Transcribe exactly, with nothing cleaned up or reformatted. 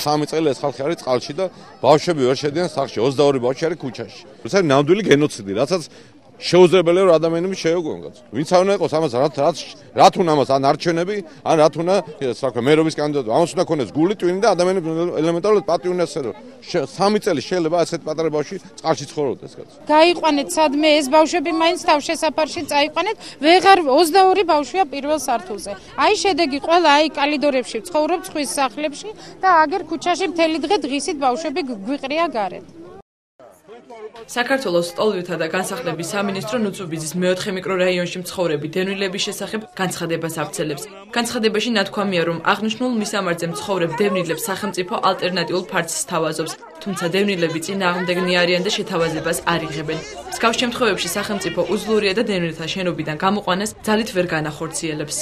სამი წელი ეს ხალხი არის წყალში და ბავშვები ვერ შედიან სახლში, ოცდაორი ბავშვი არის ქუჩაში. ეს არის ნამდვილი გენოციდი, რასაც შეუძლებელია რომ ადამიანები შეეგუონ კაცო. ვინც არ უნდა იყოს ამას რაც რაც რაც უნდა ამას ან არჩევნები, ან რაც უნდა, რა ქვია, მერობის კანდიდატი. ამას უნდა ქონდეს გული, ტვინი და ადამიანები ელემენტარულად პატივი უნდა ესწრებოდნენ. სამი წელი შეიძლება ასეთ პატარა ბავშვი წყალში ცხოვრობდეს კაცო. გაიყვანეთ სადმე ეს ბავშვები მაინც თავშესაფარში წაიყვანეთ, ვეღარ ოცდაორი ბავშვია პირველ სართულზე. აი შედეგი ყველა აი კალიდორებში ცხოვრობს ხვის სახლებში და აგერ ქუჩაში მთელი დღე დღისით ბავშვები გვიყრია გარეთ. საქართველოს სტოლვითა და განსახლების სამინისტრო ნუცუბიძის მეოთხე მიკრორაიონში მცხოვრები დევნილების შესახებ განცხადებას ავრცელებს. განცხადებაში ნათქვამია, რომ აღნიშნულ მისამართზე მცხოვრებ დევნილებს სახელმწიფო ალტერნატიულ ფარცს სთავაზობს, თუმცა დევნილები წინააღმდეგნი არიან და შეთავაზებას არ იღებენ. მსგავს შემთხვევებში სახელმწიფო უძლურია და დევნილთა შენობიდან გამოყვანას ძალით ვერ განახორციელებს.